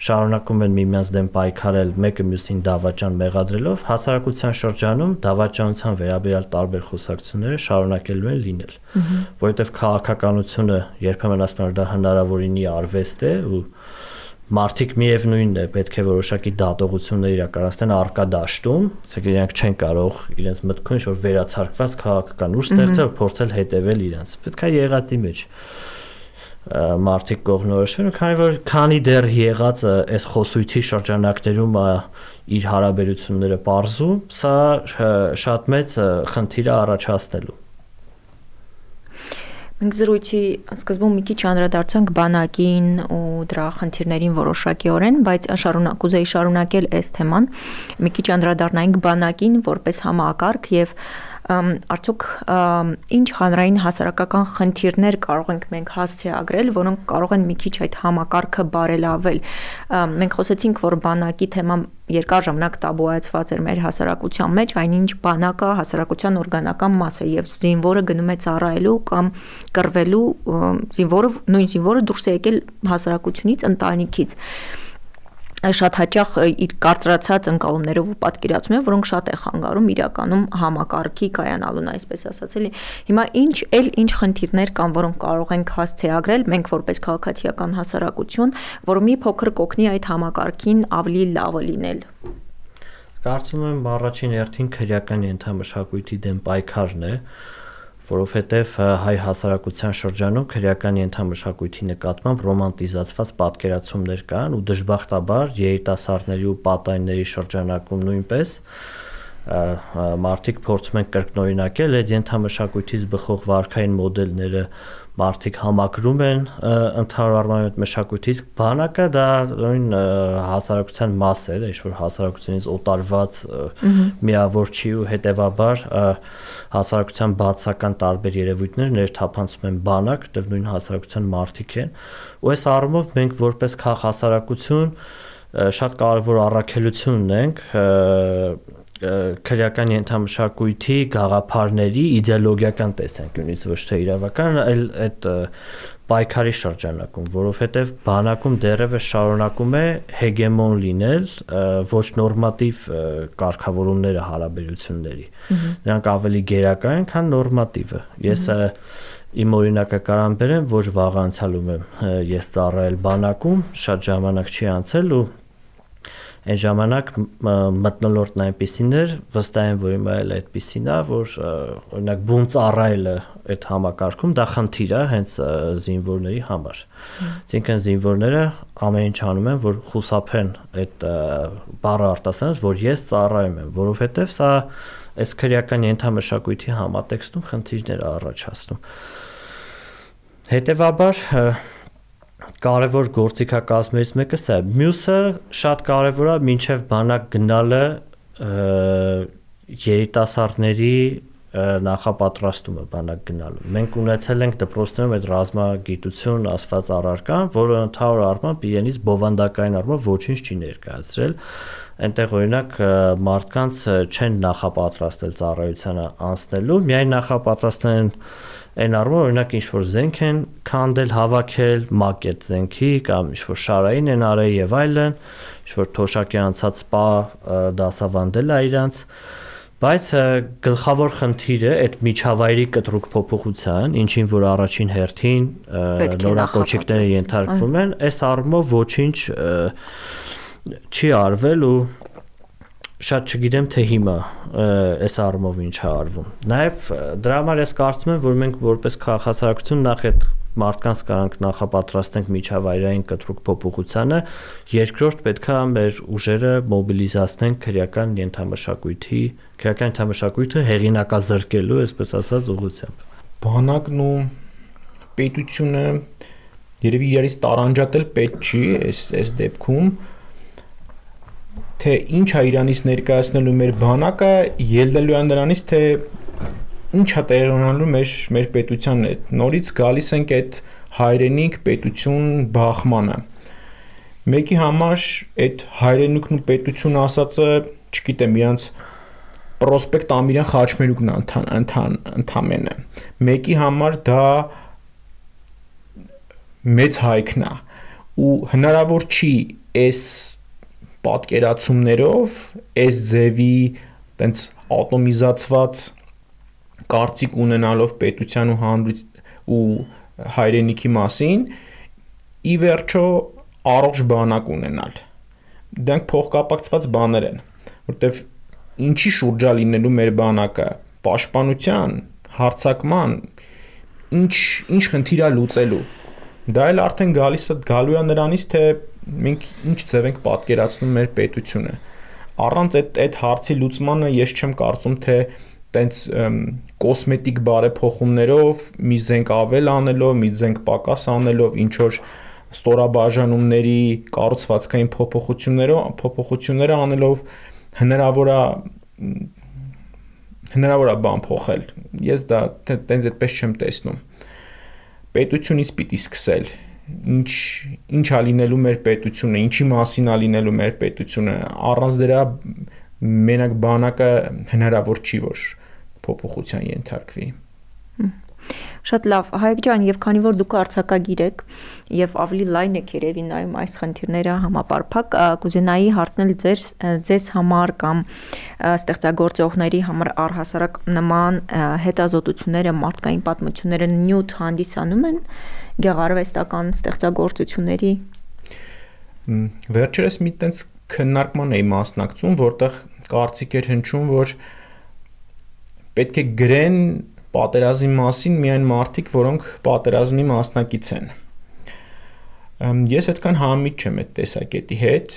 շարունակում են միմյանց դեմ պայքարել, մեկը մյուսին դավաճան մեղադրելով, հասարակության շրջանում դավաճանության վերաբերյալ տարբեր խոսակցությունները շարունակելու են լինել, որովհետև քաղաքականությունը երբեմն ասում են, որ դա հնարավորինի արվեստ է ու մարդիկ միևնույնն է պետք է որոշակի դատողություններ իրականացնեն առկա դաշտում, ասենք իրենք չեն կարող իրենց մտքում ինչ-որ վերացարկված քաղաքական ուժ ստեղծել, փորձել հետևել իրենց։ Պետք է եղածի մեջ մարդիկ կողմնորոշվեն, քանի որ քանի դեռ եղածը այս խոսույթի շրջանակներում իր հարաբերությունները պարզում, սա շատ մեծ խնդիր է առաջացնելու։ Մենք զրույցի սկզբում մի քիչ անդրադարձանք բանակին ու դրա խնդիրներին որոշակիորեն, բայց շարունակ կուզեի շարունակել այս թեման, մի քիչ անդրադառնայինք բանակին որպես համակարգ եւ արդյոք ինչ հանրային հասարակական խնդիրներ կարող ենք մենք հասցեագրել, որոնք կարող են մի քիչ այդ համակարգը բարելավել։ Մենք խոսեցինք, որ բանակի թեման երկար ժամանակ տաբուացված էր մեր հասարակության մեջ, այնինչ բանակը հասարակության օրգանական մաս է եւ զինվորը գնում է ծառայելու կամ կռվելու, զինվորը նույն զինվորը դուրս է եկել հասարակությունից, ընտանիքից։ Շատ հաճախ իր կարծրացած ընկալումներով ու պատկերացումներով, որոնք շատ է խանգարում իրականում համակարգի կայանալուն, այսպես ասած էլի։ Հիմա ինչ էլ ինչ խնդիրներ կան, որոնք կարող ենք հասցեագրել մենք որպես քաղաքացիական հասարակություն, որ մի փոքր կօգնի այդ համակարգին ավելի լավը լինել։ Կարծում եմ առաջին հերթին քրեական ենթամշակույթի դեմ պայքարն է, որովհետև հայ հասարակության շրջանում քրեական ենթամշակույթի նկատմամբ ռոմանտիզացված պատկերացումներ կան ու դժբախտաբար երիտասարդների ու պատանիների շրջանակում նույնպես մարդիկ փորձում են կրկնօրինակել այդ ենթամշակույթից բխող վարքային մոդելները, մարդիկ համակրում են ընդհանուր առմամբ այդ մշակույթից, բանակը դա նույն հասարակության մաս է, դա ինչ-որ հասարակությունից օտարված միավոր չի ու հետևաբար հասարակության բացական տարբեր երևույթներ ներթափանցում են բանակ, դեռ նույն հասարակության մարդիկ են, ու այս առումով մենք որպես քաղաքասարակություն շատ կարևոր առաքելություն ունենք քրեական ենթամշակույթի գաղափարների իդեոլոգիական տեսանկյունից, ոչ թե իրավական, այլ այդ պայքարի շրջանակում, որովհետև բանակում դեռևս շարունակում է հեգեմոն լինել ոչ նորմատիվ կարգավորումները հարաբերությունների։ Նրանք ավելի գերակա են, քան նորմատիվը։ Ես իմ օրինակակարան բերեմ, ոչ վաղ անցյալում եմ ես ծառայել բանակում, շատ ժամանակ չի անցել ու այն ժամանակ մթնոլորտն այնպիսին էր, վստահ եմ, որ հիմա էլ այդպիսին է, որ օրինակ բուն ծառայելը այդ համակարգում դա խնդիր է հենց զինվորների համար։ Այսինքն զինվորները ամեն ինչ անում են, որ խուսափեն այդ բառը արտասանելուց, որ ես ծառայում եմ, որովհետև սա այս քրեական ենթամշակույթի համատեքստում խնդիրներ է առաջացնում։ Հետևաբար կարևոր գործիքակազմերից մեկը սա է։ Մյուսը շատ կարևոր է մինչև բանակ գնալը երիտասարդների նախապատրաստումը բանակ գնալու։ Մենք ունեցել ենք դպրոցներում այդ ռազմագիտություն ասված առարկան, որը ընդհանուր առմամբ իրենից բովանդակային առմամբ ոչինչ չի ներկայացրել։ Այնտեղ օրինակ մարդկանց չեն նախապատրաստել ծառայությանը անցնելու, միայն նախապատրաստել են այն առումով օրինակ ինչ-որ զենք են քանդել, հավաքել, մակետ զենքի կամ ինչ-որ շարային են արել եւ այլն, ինչ-որ թոշակի անցած սպա դասավանդել է իրանց, բայց գլխավոր խնդիրը այդ միջավայրի կտրուկ փոփոխության, ինչին որ առաջին հերթին նորակոչիկները ենթարկվում են, այս առումով ոչինչ չի արվել ու շատ չգիտեմ թե հիմա այս առումով ինչ է արվում։ Նաև դրա համար ես կարծում եմ, որ մենք որպես քաղաքացիություն նախ այդ մարդկանց կարանք նախապատրաստենք միջավայրային կտրուկ փոփոխությանը, երկրորդ պետքա մեր ուժերը մոբիլիզացնենք քրեական ենթամշակույթի, քրեական ենթամշակույթը հեղինակազրկելու, այսպես ասած, ուղղությամբ։ Բանակն ու պետությունը երևի իրարից տարանջատել պետք չի այս այս դեպքում, թե ինչ է Իրանից ներկայացնելու մեր բանակը, ելնելու է նրանից, թե ինչ է տեղի ունենալու մեր մեր պետության հետ։ Նորից գալիս ենք այդ հայրենիք պետություն բախմանը։ Մեկի համար այդ հայրենիքն ու պետությունը ասածը, չգիտեմ, իրանց պրոսպեկտ Ամիրյան Խաչմերուկն ընթան ընդամենը։ Մեկի համար դա մեծ հայքն է ու հնարավոր չի այս պատկերացումներով, այս ձևի տենց ատոմիզացված կարծիք ունենալով պետության ու հանրույթ ու հայրենիքի մասին, ի վերջո առողջ բանակ ունենալ։ Դրանք փոխկապակցված բաներ են, որտեվ ինչի շուրջա լինելու մեր բանակը, պաշտպանության, հարձակման, ինչ ինչ խնդիր է լուծելու։ Դա էլ արդեն գալիս է գալու է նրանից, թե մենք ինչ ձև ենք պատկերացնում մեր պետությունը։ Առանց այդ այդ հարցի լուծմանը ես չեմ կարծում, թե տենց կոսմետիկ բարեփոխումներով, մի զենք ավել անելով, մի զենք պակաս անելով, ինչ որ ստորաբաժանումների կառուցվածքային փոփոխություններով, փոփոխությունները անելով հնարավոր է հնարավոր է բան փոխել։ Ես դա տենց այդպես չեմ տեսնում։ Պետությունից պիտի սկսել, ինչ ինչ է լինելու մեր պետությունը, ինչի մասին է լինելու մեր պետությունը, առանց դրա մենակ բանակը հնարավոր չի, որ փոփոխության ենթարկվի։ Շատ լավ, Հայկ ջան, եւ քանի որ դուք արձակագիր եք եւ ավելի լայն եք երևի նայում այս խնդիրները համապարփակ, կուզենայի հարցնել ձեր ձեզ համար կամ ստեղծագործողների համար առհասարակ նման հետազոտությունները, մարդկային պատմությունները նյութ հանդիսանում են գեղարվեստական ստեղծագործությունների։ Վերջերս մի տենց քննարկման էի մասնակցում, որտեղ կարծիք էր հնչում, որ պետք է գրեն պատերազմի մասին միայն մարդիկ, որոնք պատերազմի մասնակից են։ Ես այդքան համից չեմ այդ տեսակետի հետ,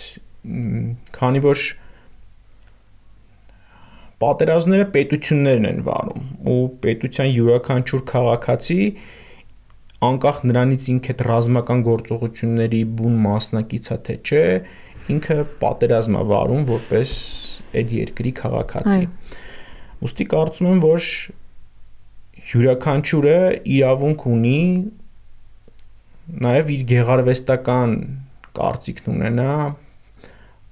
քանի որ պատերազմները պետություններն են վարում ու պետության յուրաքանչյուր քաղաքացի անկախ նրանից ինքը այդ ռազմական գործողությունների բուն մասնակից է թե չէ, ինքը պատերազմ է վարում որպես այդ երկրի քաղաքացի։ Ուստի կարծում եմ, որ յուրաքանչյուրը իրավունք ունի նաև իր գեղարվեստական կարծիքն ունենա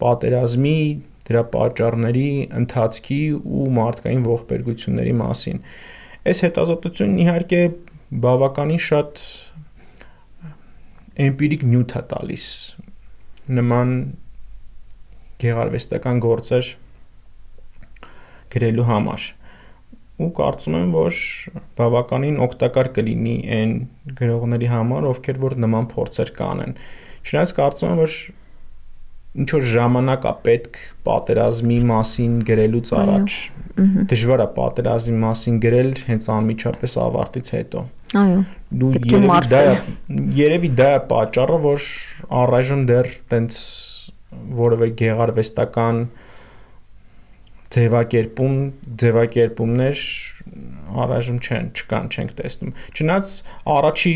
պատերազմի, դրա պատճառների, ընթացքի ու մարդկային ողբերգությունների մասին։ Այս հետազոտությունն իհարկե բավականին շատ էմպիրիկ նյութ է տալիս նման գեղարվեստական գործեր գրելու համար։ Ու կարծում եմ, որ բավականին օգտակար կլինի այն գրողների համար, ովքեր որ նման փորձեր կանեն։ Չնայած կարծում եմ, որ ինչ որ ժամանակ է պետք պատերազմի մասին գրելուց առաջ։ Դժվար է պատերազմի մասին գրել հենց անմիջապես ավարտից հետո։ Այո։ Դու երևի դա երևի դա է պատճառը, որ առայժմ դեռ տենց որևէ գեղարվեստական ձևակերպում, ձևակերպումներ առայժմ չեն, չկան, չենք տեսնում։ Չնայած առաջի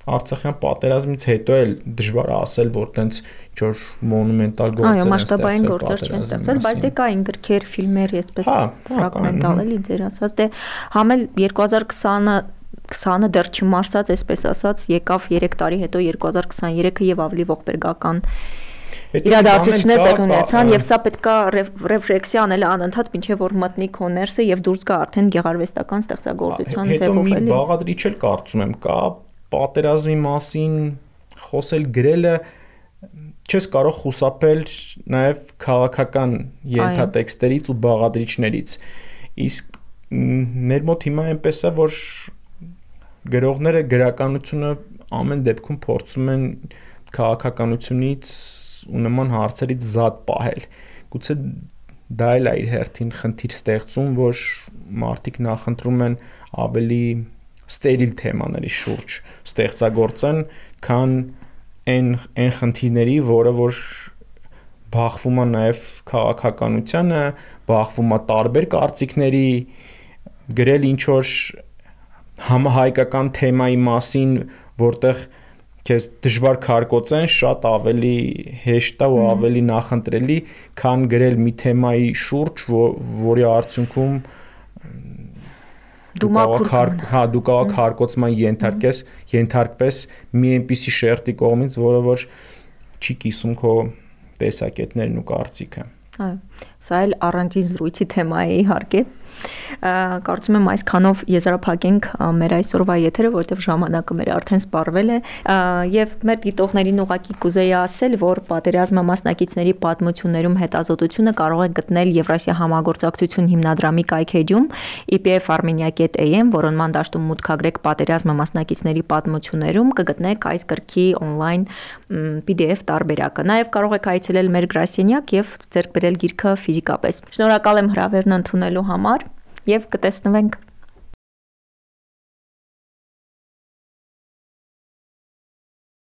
Արցախյան պատերազմից հետո էլ դժվար է ասել, որ տենց ինչ-որ մոնումենտալ գործեր են ստեղծվել։ Այո, մասշտաբային գործեր չեն ստեղծվել, բայց դե կային գրքեր, ֆիլմեր, այսպես ֆրագմենտալ էլի ձեր ասած, դե համել երկու հազար քսանը դեռ չմարսած, այսպես ասած, եկավ երեք տարի հետո երկու հազար քսաներեքը եւ ավելի ողբերգական իրադարձություններ տեղ ունեցան եւ սա պետքա ռեֆլեքսիա անել անընդհատ մինչեւ որ մտնի կոմերսը եւ դուրս գա արդեն գեղարվեստական ստեղծագործության ձևով էլի։ Հետո մի բաղադրիչ էլ կարծում եմ կա պատերազմի մասին խոսել գրելը չես կարող խուսափել նաեւ քաղաքական ենթատեքստերից ու բաղադրիչներից։ Իսկ մեր մոտ հիմա այնպես է որ գրողները գրականությունը ամեն դեպքում փորձում են քաղաքականությունից ու նման հարցերից զատ պահել։ Գուցե դա էլ է իր հերթին խնդիր ստեղծում, որ մարդիկ նախընտրում են ավելի ստերիլ թեմաների շուրջ ստեղծագործեն, քան այն այն խնդիրների, որը որ բախվում է նաև քաղաքականությանը, բախվում է տարբեր կարծիքների, գրել ինչ որ համահայկական թեմայի մասին, որտեղ քեզ դժվար քարկոծեն, շատ ավելի հեշտ է ու ավելի նախընտրելի, քան գրել մի թեմայի շուրջ, որի արդյունքում դու կարող հա դու կարող քարկոծման ենթարկես, ենթարկվես մի այնպիսի շերտի կողմից, որը որ չի կիսում քո տեսակետներն ու կարծիքը։ Այո, սա էլ առանձին զրույցի թեմա է իհարկե։ Կարծում եմ այսքանով եզրափակենք մեր այսօրվա եթերը, որտեղ ժամանակը մեր արդեն սպառվել է, եւ մեր դիտողներին ուղղակի կուզեի ասել, որ պատերազմը մասնակիցների պատմություններում հետազոտությունը կարող է գտնել Եվրասիա համագործակցություն հիմնադրամի կայքեջում ի պի էֆ armenia dot a m, որոնման դաշտում մուտքագրեք պատերազմը մասնակիցների պատմություններում, կգտնեք այս գրքի on-line պի դի էֆ տարբերակը։ Նաեւ կարող եք այցելել մեր գրասենյակ եւ ձեռք բերել գիրքը ֆիզիկապես։ Շնորհակալ եմ հրավերն ընդունելու համար եւ կտեսնվենք